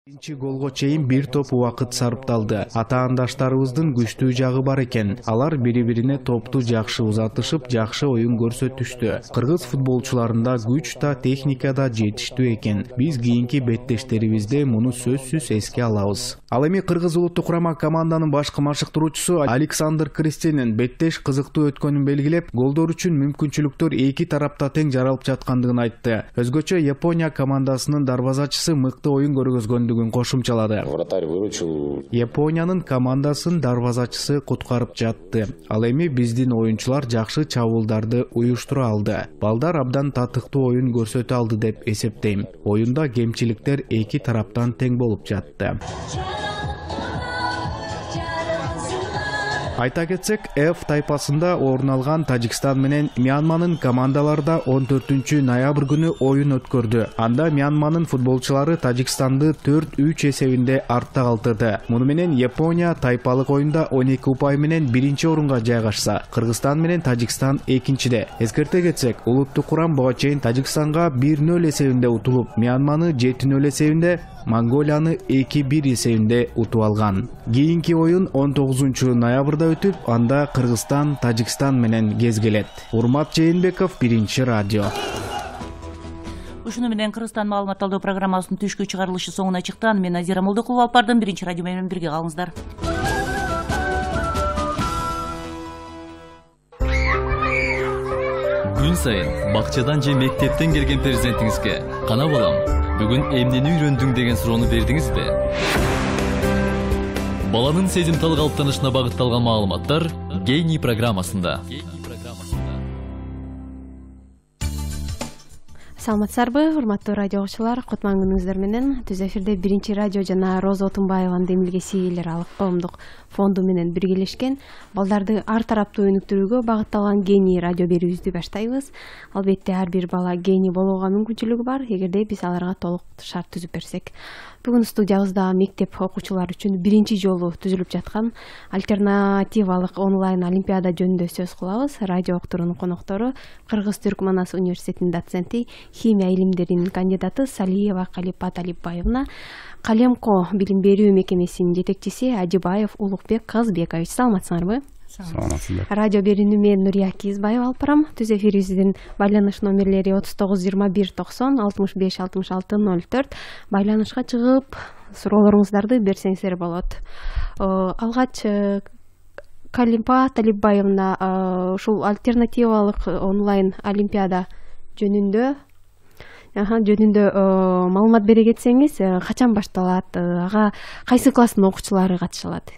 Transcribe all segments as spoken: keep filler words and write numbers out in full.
Биринчи голго чейин бир топ убакыт сарпталды. Атаандаштарыбыздын күчтүү жагы бар экен. Алар бири-бирине топту жакшы узатышып, жакшы оюн көрсөтүштү. Кыргыз футболчуларында күч да, техника да жетиштүү экен. Биз кийинки беттештерибизде муну сөзсүз эске алабыз. Ал эми Кыргыз улуттук курама команданын башкы машыктыруучусу Александр Кристенин беттеш кызыктуу өткөнүн белгилеп, голдор үчүн мүмкүнчүлүктөр эки тарапта тең жаралып жаткандыгын айтты. Өзгөчө Япония командасынын дарбазачысы мыкты оюн көргөзгөндүгүн кошумчалады. Вратарь выручил. Япониянын командасын дарбазачысы куткарып жатты. Ал эми биздин оюнчулар жакшы чабуулдарды уюштура алды. Балдар абдан татыктуу оюн көрсөтө алды деп эсептейм. Оюнда кемчиликтер эки тараптан тең болуп жатты. Айта кетсек, F тайпасында орун алган Тажикстан менен Мьянманын командаларда он төртүнчү ноябрь күнү оюн өткөрдү. Анда Мьянманын футболчулары Тажикстанды төрт үч эсебинде артта калтырды. Муну менен Япония тайпалык оюнда он эки упай менен биринчи орунга жайгашса, Кыргызстан менен Тажикстан экинчиде. Эскерте кетсек, улуттук курам буга чейин Тажикстанга бир нөл эсебинде утулуп, Мьянманы жети нөл эсебинде, Монголияны эки бир эсебинде утуп алган. Кийинки оюн он тогузунчу ноябрда өтүп, анда Кыргызстан Тажикстан менен кезгелет. Урмат Жээнбеков, Биринчи радио. Ушуну менен Кыргызстан маалымат алуу программасынын түшкү чыгарылышы соңуна чыкты. Мен Назира Молдокулова алып бардым. Биринчи радио менен бирге калыңыздар. Күн сайын бакчадан же мектептен келген перзентиңизге кана балам, бүгүн эмнени үйрөндүң деген суроону бердиңизби? Баланын сезимтал калыптанышына багытталган маалыматтар Гений программасында. Саламатсыздарбы, урматтуу радио окуучулар, кутман күнүңүздөр менен. Түз эфирде Биринчи радио жана Роза Отунбаеванын демилгеси ээлер алык коомдук фонду менен биргелешкен балдарды ар тараптуу өнүктүрүүгө багытталган Гений радио берүүбүздү баштайбыз. Албетте ар бир бала гений болууга мүмкүнчүлүгү бар, эгерде биз аларга толук шарт түзүп берсек. Бүгүн студиябызда мектеп окуучулары үчүн биринчи жолу түзүлүп жаткан альтернативалык онлайн олимпиада жөнүндө сөз кылабыз. Радио окторунун коноктору Кыргыз-Түрк Манас университетинин доценти, химия илимдеринин кандидаты Салиева Калипа Талипбаевна, Калемко билим берүү мекемесинин жетекчиси Ажыбаев Улукбек Казбекович. Саламатсыңарбы? Саламатсыздар. Радио берүүнү мен Нурия Кизбаева алып барам. Түз эфирибиздин байланыш номерлери отуз тогуз жыйырма бир токсон алтымыш беш алтымыш алты ноль төрт. Байланышка чыгып суроолоруңуздарды берсеңиздер болот. Алгач Калипа Талипбаевна ушул альтернативалык онлайн олимпиада жөнүндө жөнүндө маалымат бере кетсеңиз, качан башталат, ага кайсы класстын окуучулары катыша алат?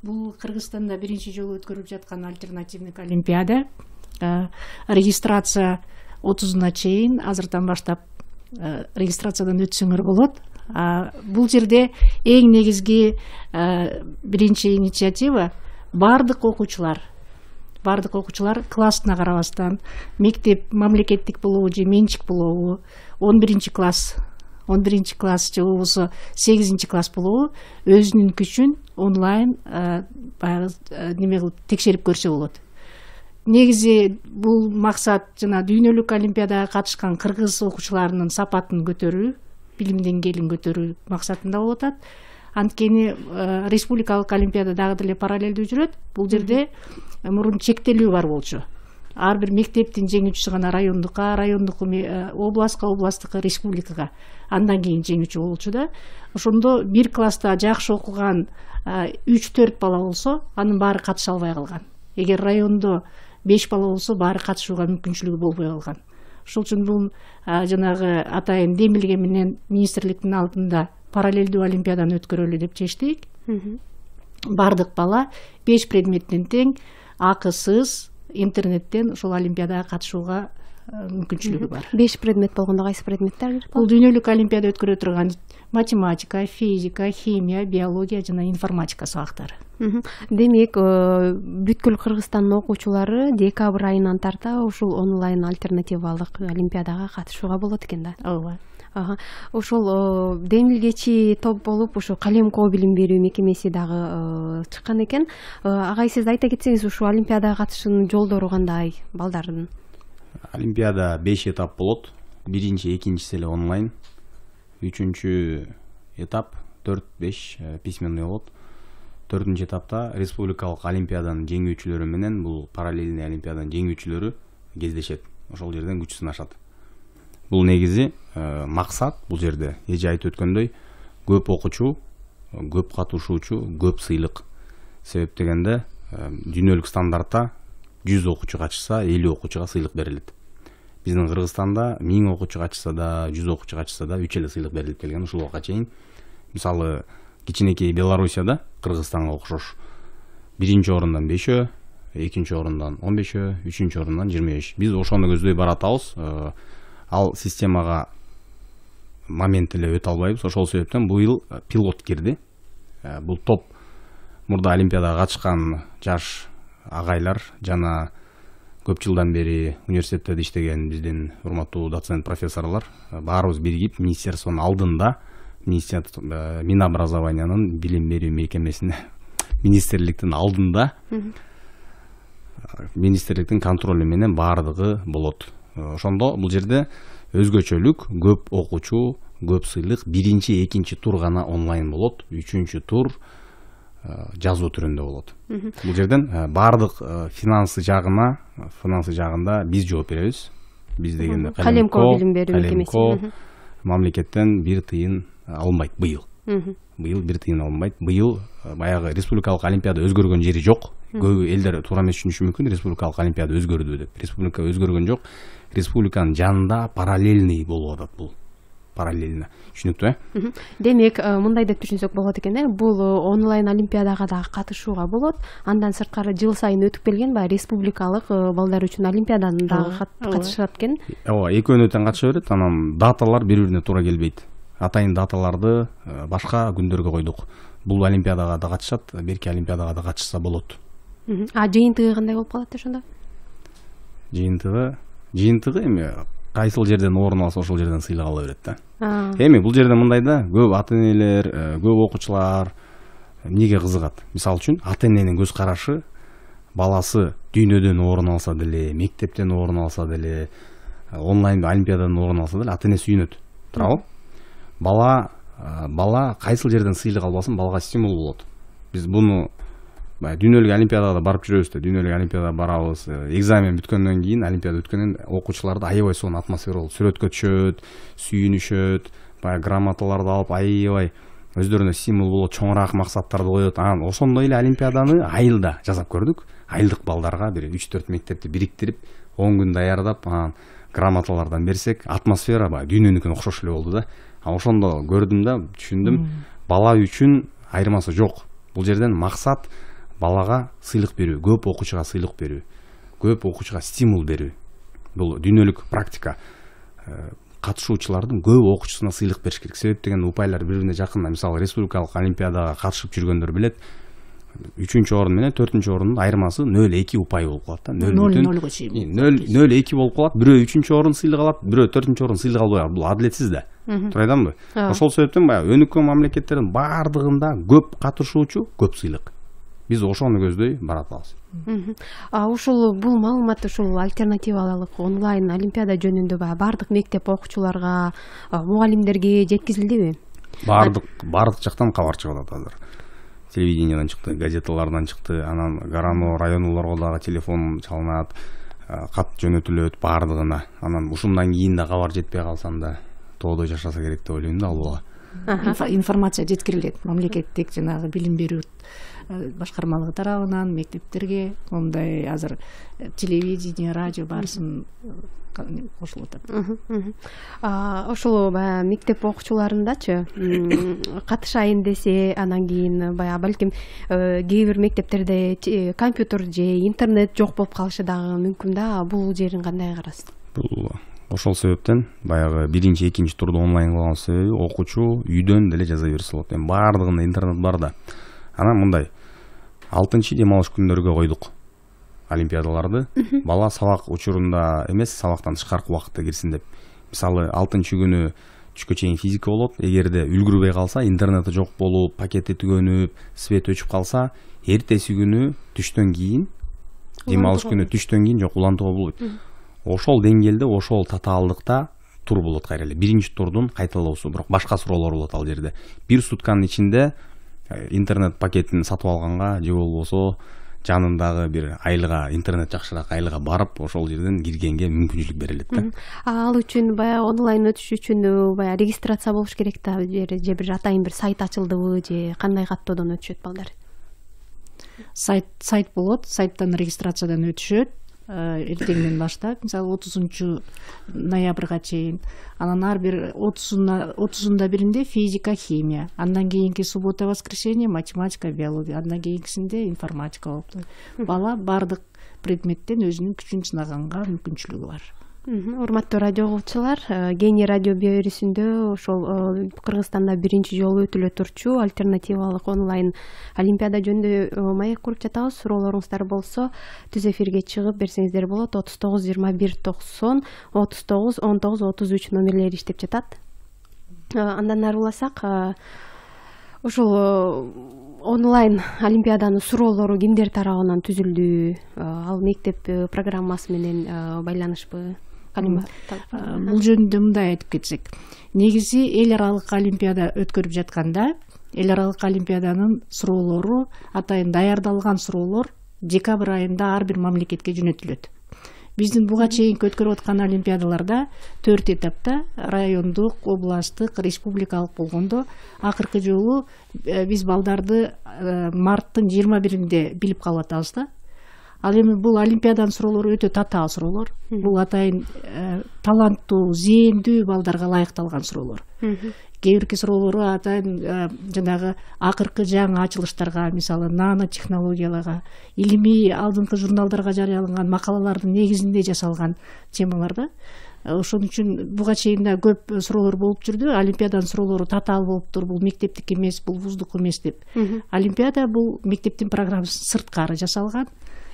Бул Кыргызстанда биринчи жолу өткөрүлүп жаткан альтернативдик олимпиада. Регистрация отузуна чейин, азыртан баштап регистрациядан өтсөңөр болот. Бул жерде эң негизги биринчи инициатива бардык окуучулар бардык окуучулар классына карабастан, мектеп мамлекеттик болобу же менчик болобу, он биринчи класс он биринчи класс же болбосо сегизинчи класс болобу, өзүнүн күчүн онлайн баягы неме кылып текшерип көрсө болот. Негизи бул максат жана дүйнөлүк олимпиадага катышкан кыргыз окуучуларынын сапатын көтөрүү, билим деңгээлин көтөрүү максатында болуп атат. Анткени республикалык олимпиада дагы деле параллелдүү жүрөт. Бул жерде мурун чектелүү бар болчу. Ар бир мектептин жеңүүчүсү гана райондукка, райондук областка, областтыкка, республикага, андан кийин жеңүүчү болчу да. Ошондо бир класста жакшы окуган үч төрт бала болсо, анын баары катыша албай калган. Эгер райондо беш бала болсо, баары катышууга мүмкүнчүлүгү болбой калган. Ошол үчүн бул жанагы атайын демилге менен министрликтин алдында параллелдүү олимпиаданы өткөрөлү деп чечтик. Бардык бала беш предметтен тең, акысыз, интернеттен ошол олимпиадага катышууга мүмкүнчүлүгү бар. беш предмет болгондо кайсы предметтер? Бул дүйнөлүк олимпиада өткөрө турган математика, физика, химия, биология жана информатика сабактары. Демек, бүткүл Кыргызстандын окуучулары декабрь айынан тарта ушул онлайн альтернативалык олимпиадага катышууга болот экен да. Ооба. Ошол демилгечи топ болуп, ушу Калемко билим берүү мекемеси дагы чыккан экен. Агай, сиз айта кетсеңиз, ушул олимпиадага катышуунун жолдору кандай балдардын? Олимпиада беш этап болот. Биринчи, экинчиси эле онлайн. Үчүнчү этап төрт беш письменный болот. Төртүнчү этапта республикалык олимпиаданын жеңүүчүлөрү менен бул параллельный олимпиаданын жеңүүчүлөрү кездешет. Ошол жерден күч сынашат. Бул негизи максат бул жерде эже айтып өткөндөй көп окуучу, көп катышуучу, көп сыйлык. Себеп дегенде дүйнөлүк стандартта жүз окуучу катышса элүү окуучуга сыйлык берилет. Биздин Кыргызстанда миң окуучу катышса да, жүз окуучу катышса да үч эле сыйлык берилип келген ушул убакка чейин. Мисалы, кичинекей Белоруссияда Кыргызстанга окшош биринчи орундан бешөө, экинчи орундан он бешөө, үчүнчү орундан жыйырма беш. Биз ошону көздөй баратабыз. Ал системага момент эле өтө албайбыз. Ошол себептен быйыл пилот кирди. Бул топ мурда олимпиадага катышкан жаш агайлар жана көп жылдан бери университетте иштеген биздин урматтуу доцент профессорлор баарыбыз биригип министерствонун алдында министерство Минобразованиянын билим берүү мекемесине министрликтин алдында министрликтин контролу менен баардыгы болот. Ошондо бул жерде өзгөчөлүк көп окуучу, көп сыйлык, биринчи, экинчи тур гана онлайн болот, үчүнчү тур жазуу түрүндө болот. Бул жерден баардык финансы жагына, финансы жагында биз жооп беребиз. Биз дегенде Калемко билим берүү мекемеси мамлекеттен бир тыйын алынбайт быйыл. Быйыл бир тыйын алынбайт. Быйыл баягы республикалык олимпиада өзгөргөн жери жок. Көп элдер туура эмес түшүнүшү мүмкүн, республикалык олимпиада өзгөрдү деп. Республика өзгөргөн жок. Республиканын жанында параллельный болуп атат бул. Параллельно. Түшүнүктүү, э? Демек, мындай деп түшүнсөк болот экен, э? Бул онлайн олимпиадага да катышууга болот. Андан сырткары жыл сайын өтүп келген баягы республикалык балдар үчүн олимпиаданын да катышат экен. Ооба, экөөнө тең катыша берет. Анан даталар бири-бирине туура келбейт. Атайын даталарды башка күндөргө койдук. Бул олимпиадага да катышат, берки олимпиадага да катышса болот. А жыйынтыгы кандай болуп калат ошондо? Жыйынтыгы, жыйынтыгы эми кайсыл жерден орун алса ошол жерден сыйлык ала берет да. Эми бул жерде мындай да, көп ата-энелер, көп окуучулар эмнеге кызыгат? Мисалы үчүн, ата-эненин көз карашы баласы дүйнөдөн орун алса деле, мектептен орун алса деле, онлайн олимпиададан орун алса деле ата-эне сүйүнөт. Туурабы? Бала бала кайсыл жерден сыйлык албасын, балага стимул болот. Биз буну дүйнөлүк олимпиадага барып жүрөбүз да, дүйнөлүк олимпиадага барабыз. Экзамен бүткөндөн кийин, олимпиада бүткөндөн окуучуларды аябай сонун атмосфера болот. Сүрөткө түшөт, сүйүнүшөт, баягы грамоталарды алып аябай өздөрүнө стимул болот, чоңураак максаттарды коет. Анан ошондой эле олимпиаданы айылда жасап көрдүк. Айылдык балдарга бир үч төрт мектепти бириктирип, он күн даярдап, анан грамоталардан берсек, атмосфера баягы дүйнөнүкүнө окшош эле болду да. Ошондо көрдүм да, түшүндүм. Бала үчүн айырмасы жок. Бул жерден максат балага сыйлык берүү, көп окуучуга сыйлык берүү, көп окуучуга стимул берүү. Бул дүйнөлүк практика. Катышуучулардын көп окуучусуна сыйлык бериш керек. Себеп дегенде упайлар бири-бирине жакын. Мисалы, республикалык олимпиадага катышып жүргөндөр билет. үчүнчү орун менен төртүнчү орундун айырмасы нөл эки упай болуп калат да. нөл чейин. нөл эки болуп калат. Бирөө үчүнчү орун сыйлык алат, бирөө төртүнчү орун сыйлык албай калат. Бул адилетсиз да. Туура айтамбы? Ошол себептен баягы өнүккөн мамлекеттердин баардыгында көп катышуучу, көп сыйлык. Биз ошону көздөй баратабыз. А ушул бул маалымат ушул альтернативалык онлайн олимпиада жөнүндө баардык мектеп окуучуларга, мугалимдерге жеткизилдиби? Баардык баардык жактан кабар чыгып атат азыр. Телевиденияден чыкты, газеталардан чыкты, анан Гарано районуларга дагы телефон чалынат, кат жөнөтүлөт баардыгына. Анан ушундан кийин да кабар жетпей калсам тоодой жашаса керек деп ойлойм да ал бала. Информация жеткирилет мамлекеттик жанагы билим берүү башкармалыгы тарабынан мектептерге, ондай азыр телевидение, радио баарысын кошулуп атат. Ошол баягы мектеп окуучуларындачы катышайын десе, анан кийин баягы балким кээ бир мектептерде компьютер же интернет жок болуп калышы дагы мүмкүн да. Бул жерин кандай карайсыз? Бул ошол себептен баягы биринчи, экинчи турду онлайн кылган себеби окуучу үйдөн деле жаза берсе болот. Эми баардыгында интернет бар да. Анан мындай алтынчы дем алыш күндөргө койдук олимпиадаларды. Бала сабак учурунда эмес, сабактан тышкаркы убакытта кирсин деп. Мисалы, алтынчы күнү түшкө чейин физика болот. Эгерде үлгүрбөй калса, интернети жок болуп, пакети түгөнүп, свет өчүп калса, эртеси күнү түштөн кийин, дем алыш күнү түштөн кийин жок улантууга болбойт. Ошол деңгээлде, ошол татаалдыкта тур болот кайра эле. Биринчи турдун кайталоосу, бирок башка суроолор болот ал жерде. Бир сутканын ичинде интернет пакетин сатып алганга же болбосо жанындагы бир айылга, интернет жакшыраак айылга барып, ошол жерден киргенге мүмкүнчүлүк берилет да. Ал үчүн баягы онлайн өтүш үчүн баягы регистрация болуш керек да, же бир атайын бир сайт ачылдыбы, же кандай каттоодон өтүшөт балдар? Сайт сайт болот, сайттан регистрациядан өтүшөт. Эртеңден баштап, мисалы отузунчу ноябрга чейин, анан ар бир отузунда биринде физика, химия, андан кийинки суббота, воскресенье математика, биология, андан кийинкисинде информатика болуптур. Бала бардык предметтен өзүнүн күчүн сынаганга мүмкүнчүлүгү бар. Урматтуу радио угуучулар, Гений радио берүүсүндө ошол Кыргызстанда биринчи жолу өтүлө турчу альтернативалык онлайн олимпиада жөнүндө маек куруп жатабыз. Суроолоруңуздар болсо түз эфирге чыгып берсеңиздер болот. отуз тогуз жыйырма бир токсон отуз тогуз он тогуз отуз үч номерлери иштеп жатат. Андан ары уласак, ошол онлайн олимпиаданын суроолору кимдер тарабынан түзүлдү? Ал мектеп программасы менен байланышпы? Бул жөнүндө мындай айтып кетсек, негизи эл аралык олимпиада өткөрүп жатканда, эл аралык олимпиаданын суроолору, атайын даярдалган суроолор декабрь айында ар бир мамлекетке жөнөтүлөт. Биздин буга чейинки өткөрүп аткан олимпиадаларда төрт этапта, райондук, областтык, республикалык болгондо, акыркы жолу биз балдарды марттын жыйырма биринде билип калып атабыз да. Ал эми бул олимпиаданын суроолору өтө татаал суроолор. Бул атайын таланттуу, зээндүү балдарга ылайыкталган суроолор. Кээ бирки суроолору атайын жанагы акыркы жаңы ачылыштарга, мисалы нано технологияларга, илимий алдыңкы журналдарга жарыяланган макалалардын негизинде жасалган темалар да. Ошон үчүн буга чейин да көп суроолор болуп жүрдү. Олимпиаданын суроолору татаал болуптур, бул мектептик эмес, бул вуздук эмес деп. Олимпиада бул мектептин программасы сырткары жасалган,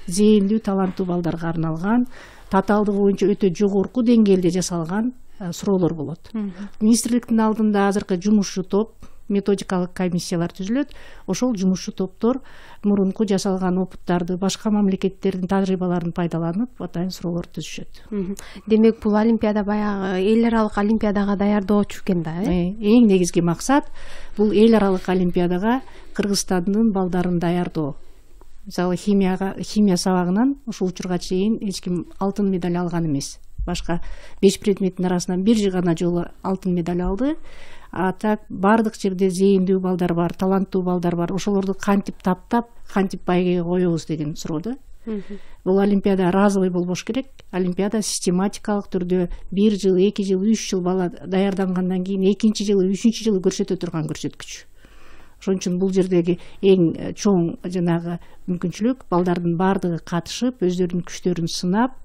зээндүү, таланттуу балдарга арналган, татаалдыгы боюнча өтө жогорку деңгээлде жасалган суроолор болот. Министрликтин алдында азыркы жумушчу топ, методикалык комиссиялар түзүлөт. Ошол жумушчу топтор мурунку жасалган опыттарды, башка мамлекеттердин тажрыйбаларын пайдаланып, атайын суроолор түзүшөт. Демек, бул олимпиада баягы эл аралык олимпиадага даярдоочу экен да, э? Эң негизги максат бул эл аралык олимпиадага Кыргызстандын балдарын даярдоо. Мисалы химияга, химия сабагынан ушул учурга чейин эч ким алтын медаль алган эмес. Башка беш предметтин арасынан бир гана жолу алтын медаль алды. А так бардык жерде зээндүү балдар бар, таланттуу балдар бар. Ошолорду кантип таптап, кантип байгеге коебуз деген суроо да. Бул олимпиада разовый болбош керек. Олимпиада систематикалык түрдө бир жыл, эки жыл, үч жыл бала даярдангандан кийин экинчи жылы, үчүнчү жылы көрсөтө турган көрсөткүч. Ошон үчүн бул жердеги эң чоң жанагы мүмкүнчүлүк балдардын бардыгы катышып, өздөрүнүн күчтөрүн сынап,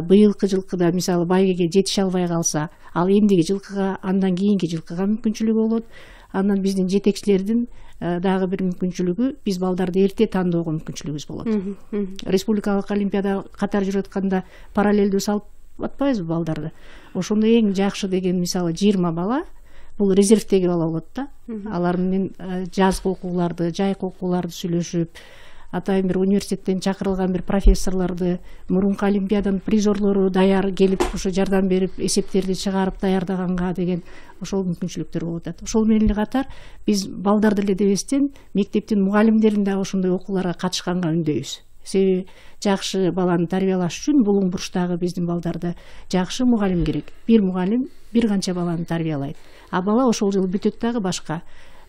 быйылкы жылкыда мисалы байгеге жетише албай калса, ал эмдиги жылкыга, андан кийинки жылкыга мүмкүнчүлүгү болот. Андан биздин жетекчилердин дагы бир мүмкүнчүлүгү, биз балдарды эрте тандоого мүмкүнчүлүгүбүз болот. Республикалык олимпиада катар жүрүп атканда параллелдүү салып атпайбызбы балдарды? Ошондо эң жакшы деген мисалы жыйырма бала бул резервдеги бала болот да. Алар менен жазгы окууларды, жайкы окууларды сүйлөшүп, атайын бир университеттен чакырылган бир профессорлорду, мурунку олимпиаданын призорлору даяр келип, ошо жардам берип, эсептерди чыгарып даярдаганга деген ошол мүмкүнчүлүктөр болуп атат. Ошол менен эле катар биз балдарды эле дебестен мектептин мугалимдерин да ошондой окууларга катышканга үндөйбүз. Себеби жакшы баланы тарбиялаш үчүн булуң бурчтагы биздин балдарды жакшы мугалим керек. Бир мугалим бир канча баланы тарбиялайт. А бала ошол жылы бүтөт дагы башка.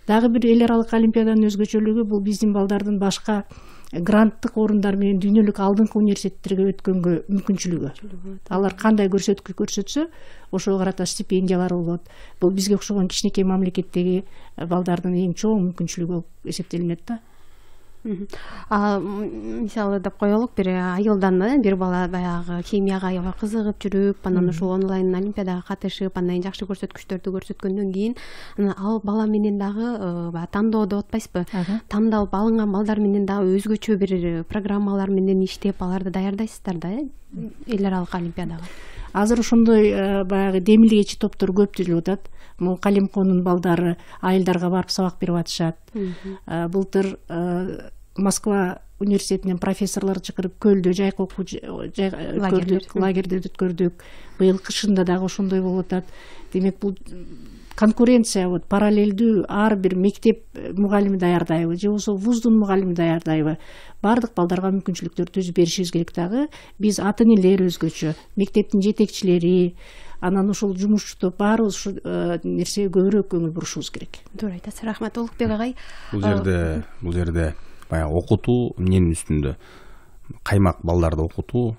Дагы бир эл аралык олимпиаданын өзгөчөлүгү бул биздин балдардын башка гранттык орундар менен дүйнөлүк алдыңкы университеттерге өткөнгө мүмкүнчүлүгү. Алар кандай көрсөткү көрсөтсө, ошого карата стипендиялар болот. Бул бизге окшогон кичинекей мамлекеттеги балдардын эң чоң мүмкүнчүлүгү болуп эсептелинет да. А мисалы деп коелук, бир айылдан бир бала баягы химияга аябай кызыгып жүрүп, анан ушул онлайн олимпиадага катышып, андан жакшы көрсөткүчтөрдү көрсөткөндөн кийин ал бала менен дагы баягы тандоо деп атпайсызбы? Тандалып алынган балдар менен дагы өзгөчө бир программалар менен иштеп, аларды даярдайсыздар да, эл аралык олимпиадага. Азыр ошондой баягы демилгечи топтор көп түзүлүп атат. Могу Калимкоонун балдары айылдарга барып сабак берип атышат. Былтыр Москва университетинен профессорлор чакырып көлдө жайкы окуу өткөрдүк, лагердерди өткөрдүк. Быйыл кышында дагы ошондой болуп атат. Демек бул конкуренция, вот параллелдүү ар бир мектеп мугалими даярдайбы же болбосо вуздун мугалими даярдайбы, баардык балдарга мүмкүнчүлүктөр түзүп беришибиз керек. Дагы биз ата энелер өзгөчө, мектептин жетекчилери, анан ушул жумушчу топ баарыбыз ушул нерсеге көбүрөөк көңүл бурушубуз керек. Туура айтасыз. Рахмат Улукбек агай. Бул жерде бул жерде баягы окутуу эмненин үстүндө? Каймак балдарды окутуу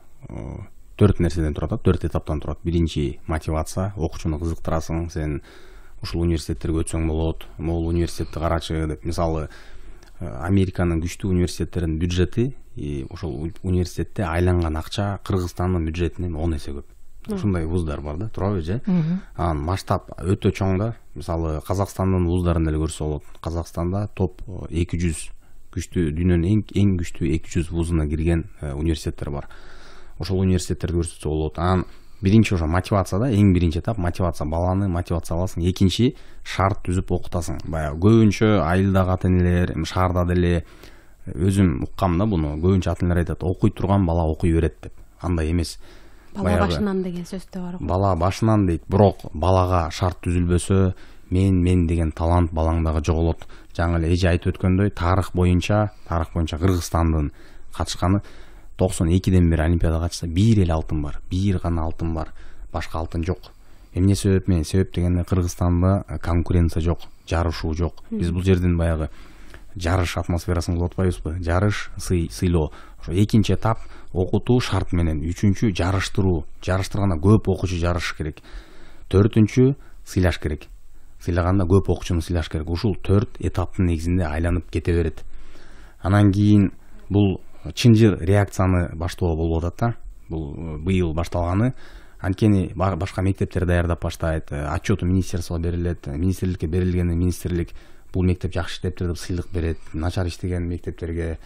төрт нерседен турат, төрт этаптан турат. Биринчи мотивация, окуучуну кызыктырасың, сен ушул университеттерге өтсөң болот, могул университетти карачы деп. Мисалы, Американын күчтүү университеттеринин бюджети ошол университетте айланган акча Кыргызстандын бюджетинен он эсе көп. Ушундай вуздар бар да, туурабы же? Анан масштаб өтө чоң да. Мисалы, Казакстандын вуздарын эле көрсө болот. Казакстанда топ эки жүз күчтүү, дүйнөнүн эң эң күчтүү эки жүз вузуна кирген университеттер бар. Ошол университеттерди көрсөтсө болот. Анан биринчи ошо мотивация да, эң биринчи этап мотивация, баланы мотивация кыласың. Экинчи шарт түзүп окутасың. Баягы көбүнчө айылдагы ата энелер, шаарда деле өзүм уккам да буну. Көбүнчө ата энелер айтат, окуй турган бала окуй берет деп. Андай эмес. Бала башынан деген сөз да бар. Бала башынан дейт, бирок балага шарт түзүлбөсө, мен мен деген талант балаңдагы жоголот. Жаңы эле эже айтып өткөндөй, тарых боюнча, тарых боюнча Кыргызстандын катышканы токсон экиден бери олимпиадага катышса бир эле алтын бар. Бир гана алтын бар. Башка алтын жок. Эмне себеп менен? Себеп дегенде Кыргызстанда конкуренция жок, жарышуу жок. Биз бул жерден баягы жарыш атмосферасын кылып атпайбызбы? Жарыш, сый, сыйлоо. Ошо экинчи этап окутуу шарт менен, үчүнчү жарыштыруу. Жарыштырганда көп окуучу жарыш керек. Төртүнчү сыйлаш керек. Сыйлаганда көп окуучуну сыйлаш керек. Ушул төрт этаптын негизинде айланып кете берет. Анан кийин бул чынжыр реакцияны баштоо болуп атат да. Бул быйыл башталганы. Анткени башка мектептер даярдап баштайт. Отчету министерствого берилет. Министрликке берилгенде министрлик бул мектеп жакшы иштептир деп сыйлык берет. Начар иштеген мектептерге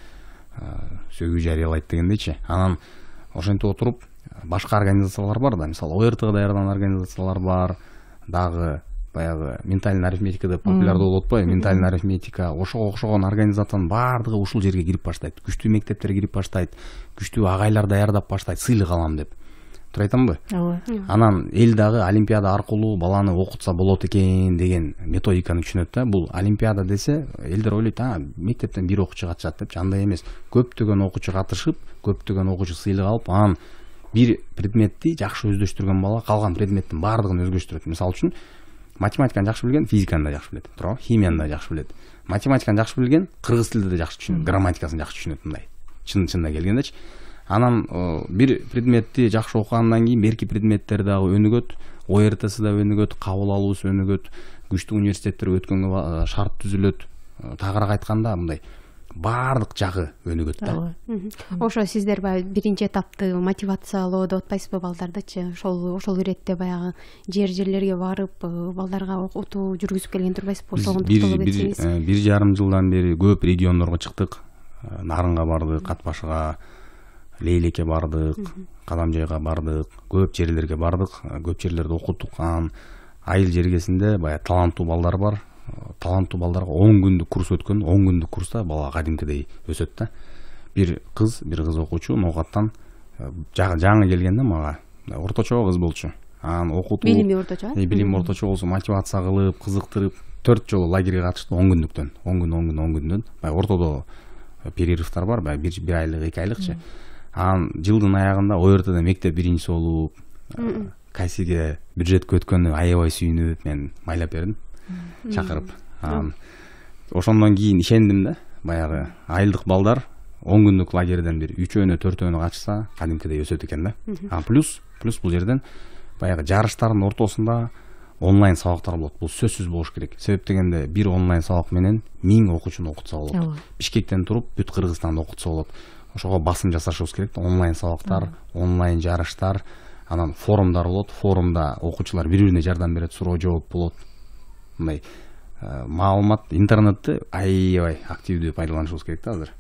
сөгүү жарыялайт дегендейчи. Анан ошентип отуруп башка организациялар бар да. Мисалы, О Р Тга даярдаган организациялар бар. Дагы баягы ментальный арифметика деп популярдуу болуп атпайбы? Ментальный арифметика, ошого окшогон организациянын баардыгы ушул жерге кирип баштайт. Күчтүү мектептерге кирип баштайт. Күчтүү агайлар даярдап баштайт. Сыйлык алам деп. Туура айтамбы? Ооба. Анан эл дагы олимпиада аркылуу баланы окутса болот экен деген методиканы түшүнөт да. Бул олимпиада десе, элдер ойлойт, а, мектептен бир окуучу катышат депчи. Андай эмес. Көптөгөн окуучу катышып, көптөгөн окуучу сыйлык алып, анан бир предметти жакшы өздөштүргөн бала калган предметтин баардыгын өздөштүрөт. Мисалы үчүн, математиканы жакшы билген, физиканы да жакшы билет, туурабы? Химияны да жакшы билет. Математиканы жакшы билген, кыргыз тилди да жакшы түшүнөт, грамматикасын жакшы түшүнөт мындай. Чын-чынына келгендечи. Анан бир предметти жакшы окугандан кийин берки предметтер дагы өнүгөт, О Р Тси да өнүгөт, кабыл алуусу өнүгөт, күчтүү университеттерге өткөнгө шарт түзүлөт. Тагыраак айтканда мындай баардык жагы өнүгөт да. Ошо сиздер баягы биринчи этапты мотивациялоо деп атпайсызбы балдардычы? Ошол ошол иретте баягы жер жерлерге барып, балдарга окутуу жүргүзүп келген турбайсызбы? Ошого токтолуп кетсеңиз. бир жарым жылдан бери көп региондорго чыктык. Нарынга бардык, Катбашка, Лейлекке бардык, Кадамжайга бардык, көп жерлерге бардык, көп жерлерде окуттук. Анан айыл жергесинде баягы таланттуу балдар бар. Таланттуу балдарга он күндүк курс өткөн, он күндүк курста бала кадимкидей өсөт да. Бир кыз, бир кыз окуучу Ноокаттан жаңы келгенде мага орточо кыз болчу. Анан окутуу, билими орточо, э, билими орточо болсо, мотивация кылып, кызыктырып, төрт жолу лагерге катышты он күндүктөн. он күн, он күн, он күндөн. Баягы ортодо перерывтар бар, баягы бир бир айлык, эки айлыкчы. Анан жылдын аягында О Р Тда мектеп биринчиси болуп, кайсиге бюджетке өткөнү аябай сүйүнүп, мен майлап бердим. Чакырып. Анан ошондон кийин ишендим да. Баягы айылдык балдар он күндүк лагерден бир үчөөнө, төртөөнө катышса, кадимкидей өсөт экен да. А плюс, плюс бул жерден баягы жарыштардын ортосунда онлайн сабактар болот. Бул сөзсүз болуш керек. Себеп дегенде бир онлайн сабак менен миң окуучуну окутса болот. Бишкектен туруп бүт Кыргызстанды окутса болот. Ошого басым жасашыбыз керек да. Онлайн сабактар, онлайн жарыштар, анан форумдар болот. Форумда окуучулар бири-бирине жардам берет, суроо жооп болот. Мындай маалымат, интернетти аябай активдүү пайдаланышыбыз керек да азыр.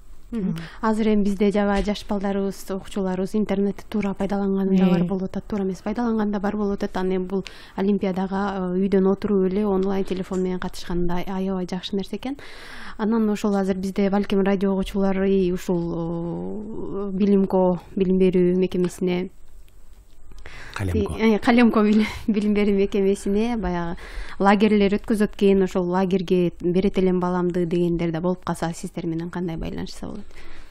Азыр эми бизде жаба жаш балдарыбыз, окуучуларыбыз интернетти туура пайдаланган да бар болуп атат, туура эмес пайдаланган да бар болуп атат. Анан эми бул олимпиадага үйдөн отуруп эле онлайн телефон менен катышкан да аябай жакшы нерсе экен. Анан ошол азыр бизде балким радио окуучулары ушул билимко билим берүү мекемесине Калемко Калемко билим берүү мекемесине баягы лагерлер өткөзөт экен, ошол лагерге берет элем баламды дегендер да болуп калса, сиздер менен кандай байланышса болот?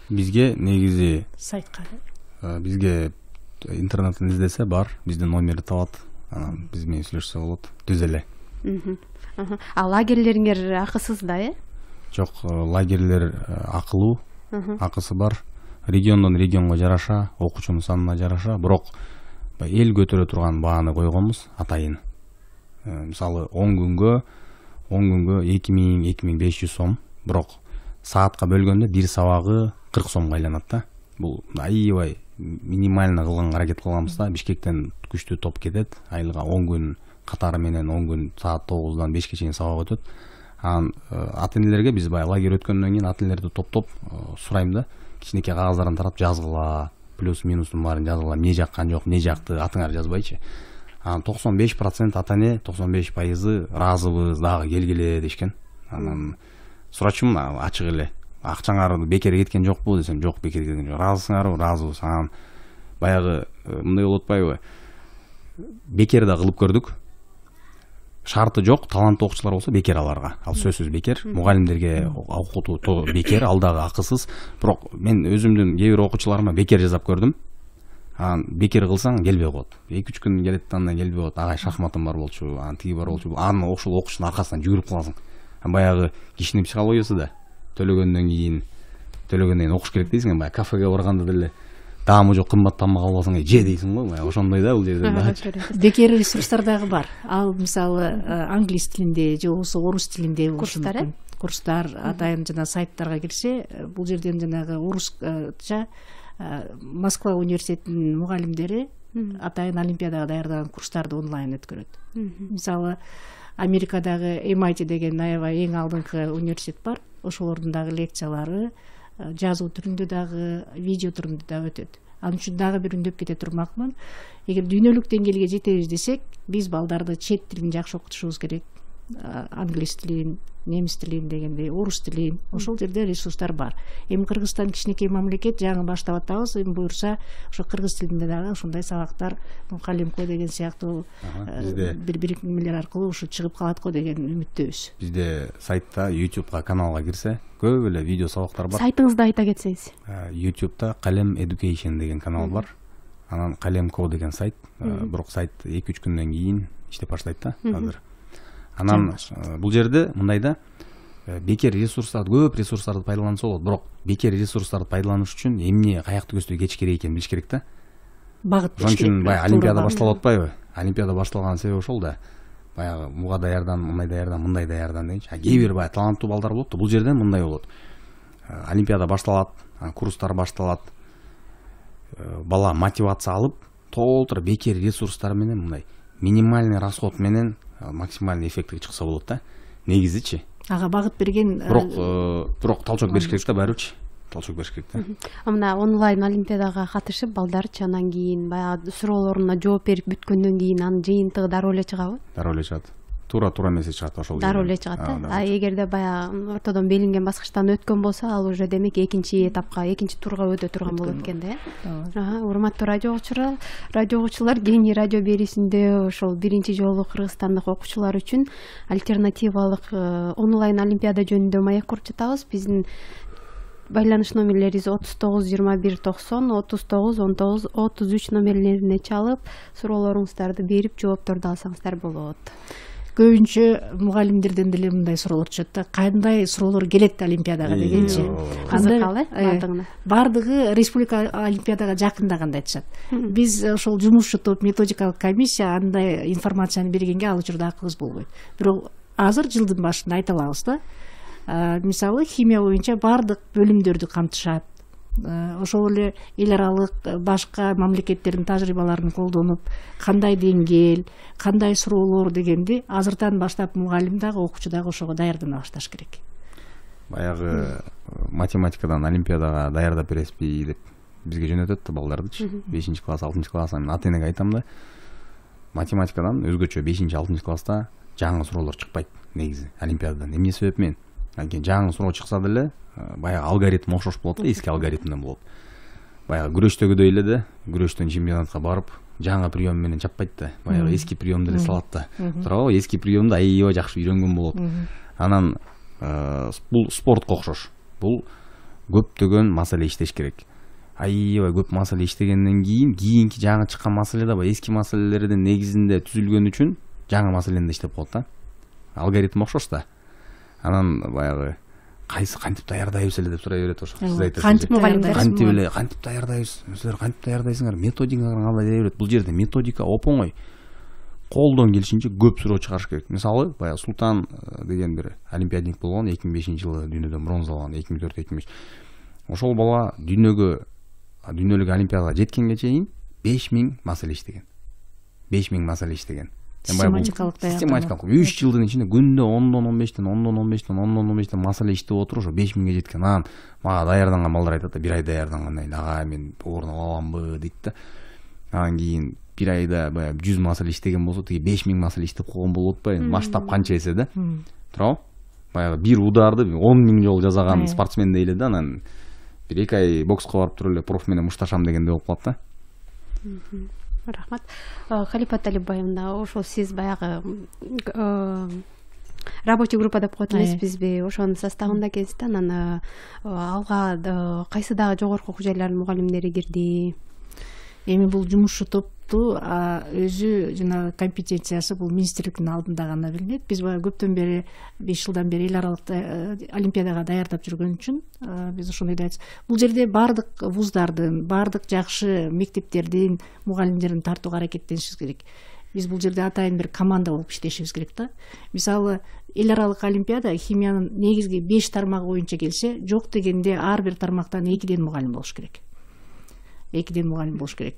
Бизге негизи сайтка бизге интернеттен издесе бар, биздин номерди табат, анан биз менен сүйлөшсө болот, түз эле. А лагерлериңер акысыз да, э? Жок, лагерлер акылуу, акысы бар. Региондон регионго жараша, окуучунун санына жараша, бирок эл көтөрө турган бааны койгонбуз атайын. Мисалы он күнгө он күнгө эки миң эки миң беш жүз сом, бирок саатка бөлгөндө бир сабагы кырк сомго айланат да. Бул аябай минимально кылганга аракет кылганбыз да. Бишкектен күчтүү топ кетет, айылга он күн катары менен он күн саат тогуздан бешке чейин сабак өтөт. Анан ата-энелерге биз баягы лагерь өткөндөн кийин ата-энелерди топтоп сурайм да, кичинекей кагаздарын тарап жазгыла, плюс минустун баарын жазгыла, эмне жаккан жок, эмне жакты атыңар жазбайчы. Анан токсон беш процент ата-эне, токсон беш пайызы ыраазыбыз, дагы келгиле дешкен. Анан сурачумун ачык эле, акчаңар бекер кеткен жокпу десем, жок бекер кеткен жок. Ыраазысыңарбы? Ыраазыбыз. Анан баягы мындай болуп атпайбы? Бекер да кылып көрдүк. Шарты жок, таланттуу окуучулар болсо бекер аларга. Ал сөзсүз бекер. Мугалимдерге окутуу бекер, ал дагы акысыз. Бирок мен өзүмдүн кээ бир окуучуларыма бекер жасап көрдүм. Анан бекер кылсаң келбей коет. эки үч күн келет, андан келбей коет. Агай шахматым бар болчу, анан тиги бар болчу. Анын ошол окуучунун аркасынан жүгүрүп каласың. Баягы кишинин психологиясы да. Төлөгөндөн кийин, төлөгөндөн кийин окуш керек дейсиң, баягы кафеге барганда деле таамы жок, кымбат тамак алып алсаң, же дейсиң го, баягы ошондой да бул жерде дагы. Бекер ресурстар дагы бар. Ал мисалы англис тилинде же болбосо орус тилинде курстар, э? Курстар атайын жана сайттарга кирсе, бул жерден жанагы орусча Москва университетинин мугалимдери атайын олимпиадага даярдаган курстарды онлайн өткөрөт. Мисалы Америкадагы эм ай ти деген аябай эң алдыңкы университет бар. Ошолордун дагы лекциялары жазуу түрүндө дагы, видео түрүндө дагы өтөт. Ал үчүн дагы бир үндөп кете турмакмын. Эгер дүйнөлүк деңгээлге жетебиз десек, биз балдарды чет тилин жакшы окутушубуз керек. Англис тилин, немис тилин дегендей, орус тилин, ошол жерде ресурстар бар. Эми Кыргызстан кичинекей мамлекет, жаңы баштап атабыз, эми буюрса ошо кыргыз тилинде дагы ошондой сабактар, Калемко деген сыяктуу бир бир немелер аркылуу ушу чыгып калат го деген үмүттөбүз. Бизде сайтта, YouTubeга каналга кирсе, көп эле видео сабактар бар. Сайтыңызды айта кетсеңиз. YouTubeда Kalem Education деген канал бар. Анан Калемко деген сайт, бирок сайт эки үч күндөн кийин иштеп баштайт да азыр. Анан бул жерде мындай да, бекер ресурстарды, көп ресурстарды пайдаланса болот, бирок бекер ресурстарды пайдаланыш үчүн эмне, каякты көздөй кетиш керек экенин билиш керек да. Багыт Ошон үчүн баягы олимпиада башталып атпайбы? Олимпиада башталган себеби ошол да. Баягы буга даярдан, мындай даярдан, мындай даярдан дегенчи. А кээ бир баягы таланттуу балдар болот да, бул жерден мындай болот. Олимпиада башталат, курстар башталат. Бала мотивация алып, толтура бекер ресурстар менен мындай минимальный расход менен максимальный эффектке чыкса болот да. Негизичи. Ага багыт берген. Бирок, бирок талчок бериш керек да баарыбычы. Талчок бериш керек да. Мына онлайн олимпиадага катышып балдарчы анан кийин баягы суроолоруна жооп берип бүткөндөн кийин анын жыйынтыгы дароо эле чыгабы? Дароо эле чыгат. Туура туура эмеси чыгат ошол. Дароо эле чыгат да. А эгерде баягы ортодон белинген баскычтан өткөн болсо, ал уже демек экинчи этапка, экинчи турга өтө турган болот экен да. Ага, урматтуу радио окуучулар, радио окуучулар, Кеңи радио берүүсүндө ошол биринчи жолу кыргызстандык окуучулар үчүн альтернативалык онлайн олимпиада жөнүндө маек куруп жатабыз. Биздин байланыш номерлерибиз отуз тогуз жыйырма бир токсон, отуз тогуз он тогуз отуз үч номерлерине чалып, суроолоруңуздарды берип жоопторду алсаңыздар болот. Көбүнчө мугалимдерден деле мындай суроолор түшөт да, кандай суроолор келет олимпиадага дегенчи. Кызыкалы бардыгына. Бардыгы республика олимпиадага жакындаганда айтышат. Биз ошол жумушчу топ, методикалык комиссия андай информацияны бергенге ал учурда акыбыз болбойт. Бирок азыр жылдын башында айта алабыз да. Мисалы химия боюнча бардык бөлүмдөрдү камтышат. Ошол эле эл аралык башка мамлекеттердин тажрыйбаларын колдонуп, кандай деңгээл, кандай суроолор дегенди азыртан баштап мугалим дагы, окуучу дагы ошого даярдана башташ керек. баягы математикадан олимпиадага даярдап бересизби деп бизге жөнөтөт да балдардычы. бешинчи класс, алтынчы класс. Мен ата энеге айтам да, математикадан өзгөчө бешинчи, алтынчы класста жаңы суроолор чыкпайт негизи олимпиададан. Эмне себеп менен? Анткени жаңы суроо чыкса деле баягы алгоритм окшош болот да, эски алгоритмден болот. Баягы күрөштөгүдөй эле да, күрөштөн чемпионатка барып, жаңы прием менен чаппайт да, баягы эски прием деле салат да. Туурабы? Эски приемду аябай жакшы үйрөнгөн болот. Анан бул спортко окшош. Бул көптөгөн маселе иштеш керек. Аябай көп маселе иштегенден кийин, кийинки жаңы чыккан маселе да баягы эски маселелердин негизинде түзүлгөн үчүн жаңы маселени иштеп коет да. Алгоритм окшош да. Анан баягы кайсы кантип даярдайбыз эле деп сурай берет ошо. Сиз айтасыз. Кантип мугалимдер кантип эле кантип даярдайбыз? Силер кантип даярдайсыңар? Методикаңар кандай дей берет. Бул жерде методика оп-оңой. Колдон келишинче көп суроо чыгарыш керек. Мисалы, баягы Султан деген бир олимпиадник болгон, эки миң бешинчи жылы дүйнөдөн бронза алган, эки миң төрт эки миң беш. Ошол бала дүйнөгө дүйнөлүк олимпиадага жеткенге чейин беш миң маселе иштеген. беш миң маселе иштеген. Систематикалык систематикалык үч жылдын ичинде күндө ондон он бештен ондон он бештен ондон он бештен маселе иштеп отуруп ошо беш миңге жеткен. Анан мага даярданган балдар айтат да, бир ай даярдангандан кийин ага мен орун ала аламбы дейт да. Анан кийин бир айда баягы жүз маселе иштеген болсо, тиги беш миң маселе иштеп койгон болуп атпайбы? Масштаб канча эсе да. Туурабы? Баягы бир ударды он миң жолу жасаган спортсмен дейли да. Анан бир эки ай бокска барып туруп эле проф менен мушташам дегенде болуп калат да. Рахмат. Халипа Талипбаевна, ошол сиз баягы рабочий группа деп коет эмеспизби? Ошонун составында экенсиз да. Анан алга кайсы дагы жогорку окуу жайлардын мугалимдери кирди? Эми бул жумушчу топту өзү жана компетенциясы бул министрликтин алдында гана билинет. Биз баягы көптөн бери, беш жылдан бери эл аралык олимпиадага даярдап жүргөн үчүн биз ошондой айтабыз. Бул жерде бардык вуздардын, бардык жакшы мектептердин мугалимдерин тартууга аракеттенишибиз керек. Биз бул жерде атайын бир команда болуп иштешибиз керек да. Мисалы, эл аралык олимпиада химиянын негизги беш тармагы боюнча келсе, жок дегенде ар бир тармактан экиден мугалим болуш керек. экиден мугалим болуш керек.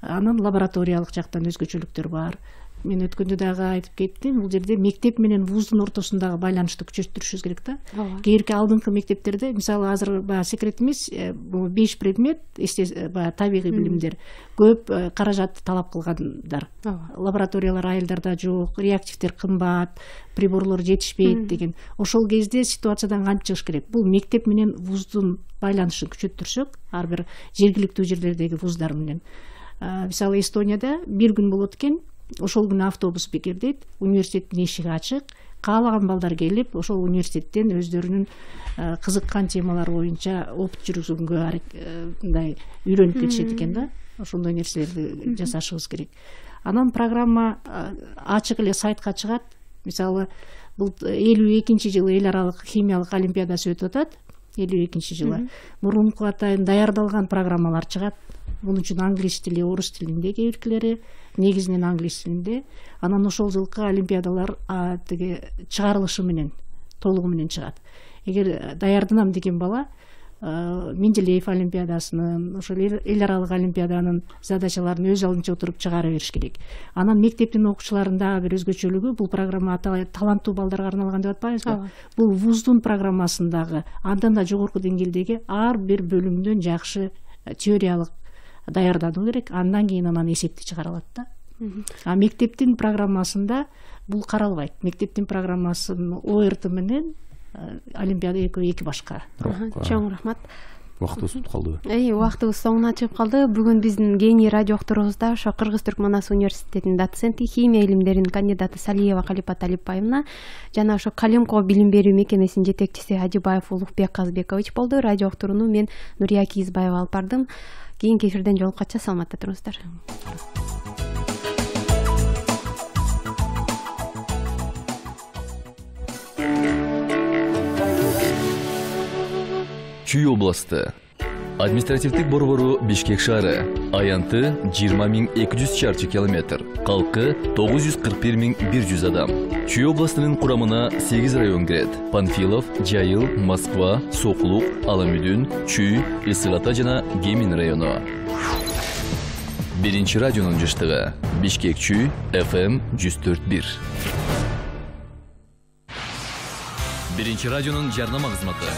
Анан лабораториялык жактан өзгөчөлүктөр бар. Мен өткөндө дагы айтып кеттим, бул жерде мектеп менен вуздун ортосундагы байланышты күчөтүрүшүбүз керек да. Кээинки алдыңкы мектептерде, мисалы азыр баягы секрет эмес, бул беш предмет, эсте баягы табигый билимдер көп каражат талап кылгандар. Лабораториялар айылдарда жок, реактивдер кымбат, приборлор жетишпейт деген. Ошол кезде ситуациядан кантип чыгыш керек? Бул мектеп менен вуздун байланышын күчөттүрсөк, ар бир жергиликтүү жерлердеги вуздар менен. Мисалы Эстонияда бир күн болот экен, ошол күнү автобус бекердейт, университеттин эшиги ачык, каалаган балдар келип, ошол университеттен өздөрүнүн кызыккан темалар боюнча опыт жүргүзгөнгө мындай үйрөнүп кетишет экен да. Ошондой нерселерди жасашыбыз керек. Анан программа ачык эле сайтка чыгат. Мисалы, бул элүү экинчи жылы эл аралык химиялык олимпиадасы өтүп атат. элүү экинчи жылы мурунку атайын даярдалган программалар чыгат. Бунун үчүн англис тили, орус тилинде кейбиркилери, негизинен англис тилинде. Анан ошол жылкы олимпиадалар тиги чыгарылышы менен, толугу менен чыгат. Эгер даярданам деген бала Менделеев олимпиадасынын, ошол эл аралык олимпиаданын задачаларын өз алдынча отуруп чыгара бериш керек. Анан мектептин окуучуларында бир өзгөчөлүгү, бул программа таланттуу балдарга арналган деп атпайбызбы? Бул вуздун программасындагы андан да жогорку деңгээлдеги ар бир бөлүмдөн жакшы теориялык даярдануу керек. Андан кийин анан эсепти чыгарылат да. А мектептин программасында бул каралбайт. Мектептин программасынын О Р Т менен олимпиада экөө эки башка. Чоң рахмат. Убактыбыз бүтүп калды. Эй, убактыбыз соңуна чыгып калды. Бүгүн биздин Гений радио окторубузда ошо Кыргыз-Түркманас университетинин доценти, химия илимдеринин кандидаты Салиева Халипа Талипбаевна жана ошо Калимко билим берүү мекемесинин жетекчиси Ажибаев Улукбек Казбекович болду. Радио октуруну мен Нурия Кийизбаева алып бардым. Кийинки эфирден жолуккача саламатта туруңуздар. Чүй областы. Административдик борбору Бишкек шаары. Аянты жыйырма миң эки жүз чарчы километр. Калкы тогуз жүз кырк бир миң бир жүз адам. Чүй областынын курамына сегиз район кирет. Панфилов, Жайыл, Москва, Соклук, Аламүдүн, Чүй, Ысык Ата жана Гемин району. Биринчи радионун жыштыгы. Бишкек Чүй, эф эм жүз төрт бир. биринчи радионун жарнама кызматы.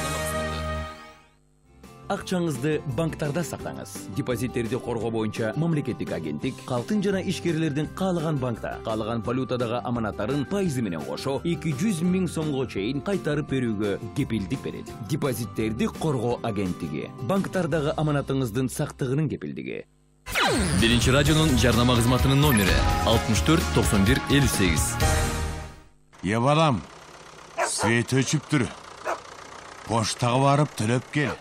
Акчаңызды банктарда сактаңыз. Депозиттерди коргоо боюнча мамлекеттик агенттик калктын жана ишкерлердин каалаган банкта, каалаган валютадагы аманаттарын пайызы менен кошо эки жүз миң сомго чейин кайтарып берүүгө кепилдик берет. Депозиттерди коргоо агенттиги. Банктардагы аманатыңыздын сактыгынын кепилдиги. биринчи радионун жарнама кызматынын номери алтымыш төрт токсон бир элүү сегиз. Е балам, свет өчүптүр. Поштага барып төлөп кел.